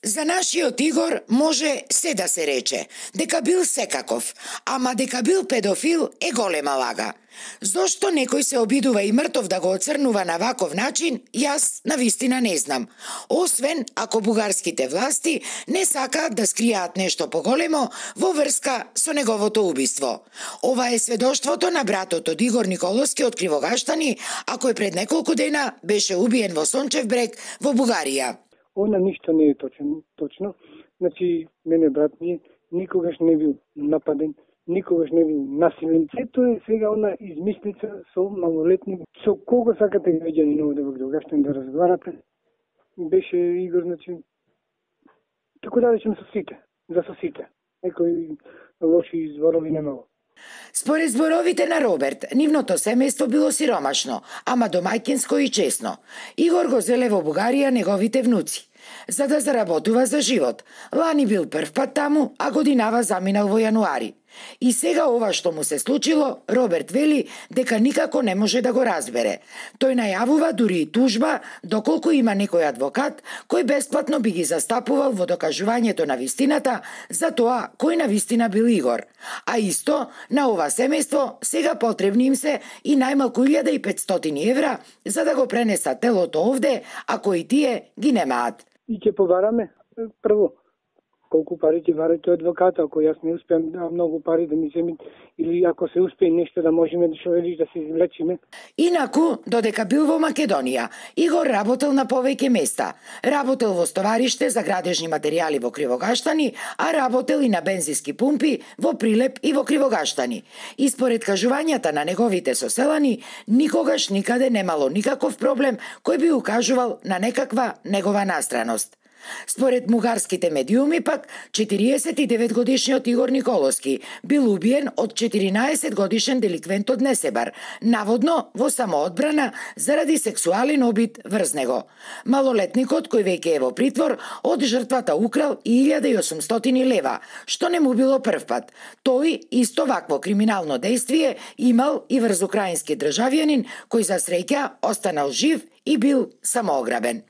За нашиот Игор може се да се рече, дека бил секаков, ама дека бил педофил е голема лага. Зошто некој се обидува и мртов да го оцрнува на ваков начин, јас навистина не знам. Освен ако бугарските власти не сакаат да скријаат нешто поголемо во врска со неговото убиство. Ова е сведоштвото на братот од Игор Николовски од Кривогаштани, а кој пред неколку дена беше убиен во Сончев брег во Бугарија. Она ништо не е точно. Значи, мене брат ми никогаш не бил нападен, никогаш не бил насилен. Сето е сега она измислица со малолетни. Со кого сакате граѓани ново да го Кривогаштани да разговарате? Беше Игор, значи, тако да речем со сите. Некои лоши зборови немало. Според зборовите на Роберт, нивното семејство било сиромашно, ама домаќинско и честно. Игор го зеле во Бугарија неговите внуци, за да заработува за живот. Лани бил прв пат таму, а годинава заминал во јануари. И сега ова што му се случило, Роберт вели дека никако не може да го разбере. Тој најавува дури и тужба, доколку има некој адвокат кој бесплатно би ги застапувал во докажувањето на вистината за тоа кој на вистина бил Игор. А исто, на ова семејство сега потребни им се и најмалку 1500 евра за да го пренесат телото овде, ако и тие ги немаат. И ќе побараме прво колку пари ќе барате адвоката, ако јас не успеам да многу пари да ми земат, или ако се успее нешто да можеме да да се извлечиме. Инаку, додека бил во Македонија, Игор работел на повеќе места. Работел во стовариште за градежни материјали во Кривогаштани, а работел и на бензински пумпи во Прилеп и во Кривогаштани. И според кажувањата на неговите соселани, никогаш никаде немало никаков проблем кој би укажувал на некаква негова настраност. Според бугарските медиуми пак, 49-годишниот Игор Николовски бил убиен од 14-годишен деликвент од Несебар, наводно во самоодбрана заради сексуален обид врз него. Малолетникот, кој веќе е во притвор, од жртвата украл и 1800 лева, што не му било прв пат. Тој исто вакво криминално дејствие имал и врз украински државјанин, кој за среќа останал жив и бил самоограбен.